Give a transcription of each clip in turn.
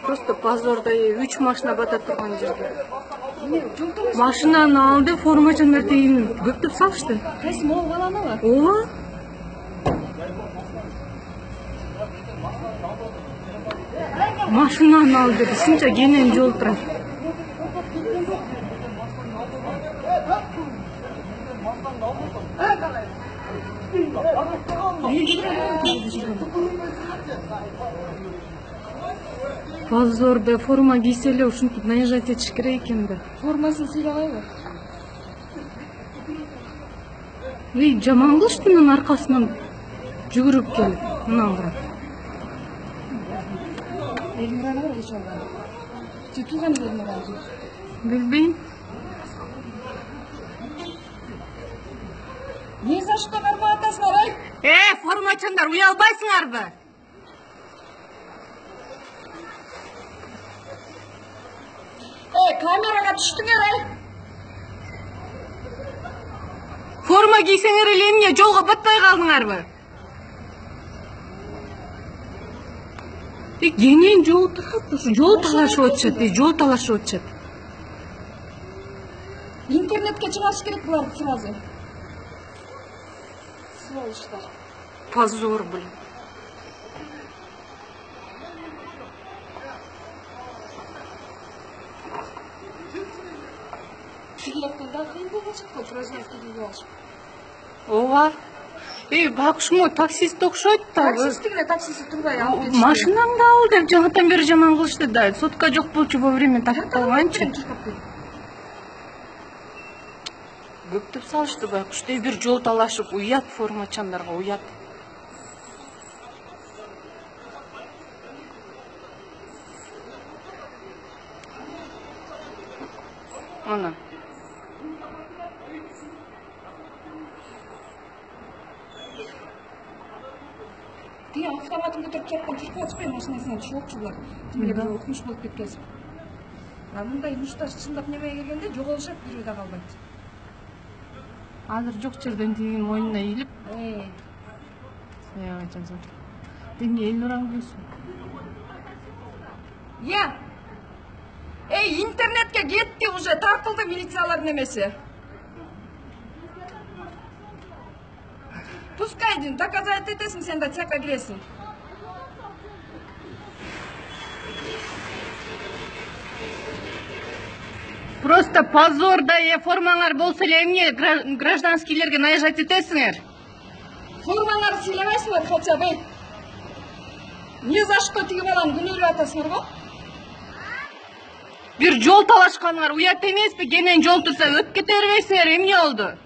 Просто позорда 3 машина бата турган жерде. Машинаны алды, формачандар тегин көптөп салышты. Кайсы могул баланыбы? Ооба. Машинаны алды, ушунча кенен жол турат. Позорда форма кийсе эле ушинтип наезжать этиш керек экен да. Формасын сыйлабайбы? Жаман кылышты менин аркасынан жүгүрүп келип, мынаны кара. Элмираны бар эч алган. Тутулган Элмираны. Билбейм. Не за что кармап атасыңар, ай? Формачандар, уялбайсыңарбы? Камерага түштүңөр, ай? Форма кийсеңер эле эмне жолго батпай калдыңарбы? Кенен жол турат, жол талашып атышат, жол талашып атышат. Интернетке чыгарыш керек буларды сразу. Сволочтар. Позор, блин. Билеттерди кыйын болуп чыкты, гражданский алышып. Ооба. Бакшмо таксист окшойт да. Таксист эле таксист турбай алып кетишти. Машинаңды ал деп жаңадан бери жаман кылышты да. Сотка жок болчу вовремя тапып калганчы. Көптөп салышты байкуштей бир жол талашып, уят формачандарга, уят. Ана. Ты автоматын көтөрүп чапкан чуркап атышпай машинасынан түшүп булар. Тим эле бул укмуш болуп кеткенсиң. Мындай муштар чындап немеге келгенде жоголушат, бирөө да калбайт. Азыр жок жерден тигин мойнуна ийилип. Саябачан. Эмне Элнуран күлсүн? Интернетке кетти уже, тартылды милициялардын немеси. Пускай доказать этесиң, сен да цехка киресиң. Просто позор да, формаңар болсо эле эмне гражданскийлерге наезжать этесиңер? Формаңарды сыйлабайсыңар хотя бы. Не за что тиги баланы күнөөлөп атасыңарбы? Бир жол талашканыңар уят эмеспи? Кенен жол турса өтүп кете бербейсиңер, эмне болду?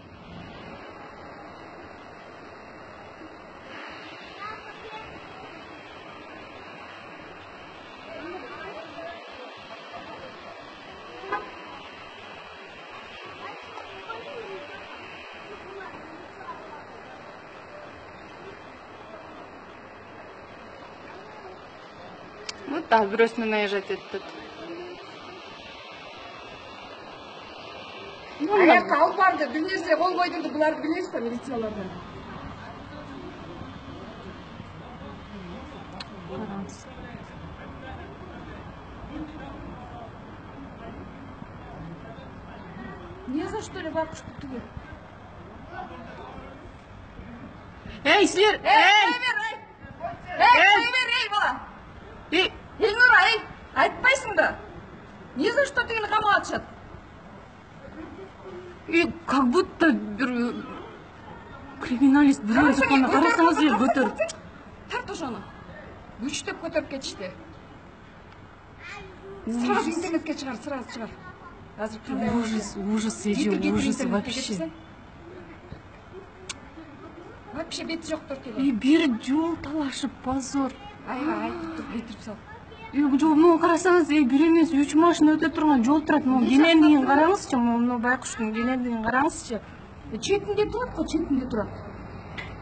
Вот так, бирөөсүнө наезжать этти. Аякка алып барды, бир нерсе кол койдурду, буларды билесизби, милициялардан? Не за что ли бакуш тугу? Силер! Эй, бала! Элнура, айтпайсыңбы? Не за что тигини камап атышат? Как будто бир криминалист бирөө чыкканда карасаңыз эле көтөрүп. Тарт ошону. Күчтөп көтөрүп кетишти. Сразу интернетке чыгар, сразу чыгар. Азыр кандай ужас эже, ужас вообще. Вообще бети жок төртөйгө. Бир жол талашып, позор. Айтып тур, кетирип сал. Могу карасаңыз, бир эмес 3 машина өтө турган жол турат. Могу кенендигин караңызчы, могу байкуштун кенендигин караңызчы. Четинде турат го, четинде турат.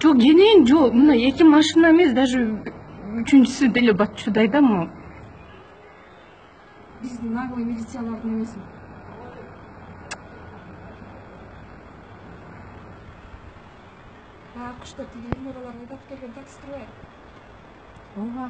Жок, кенен жол, мына 2 машина эмес, даже 3-үчүсү деле батчудай да могу. Биздин наглый милициялардын эмеси. Кушта тиги Элнуралар айдап келген такси турбайбы? Ооба.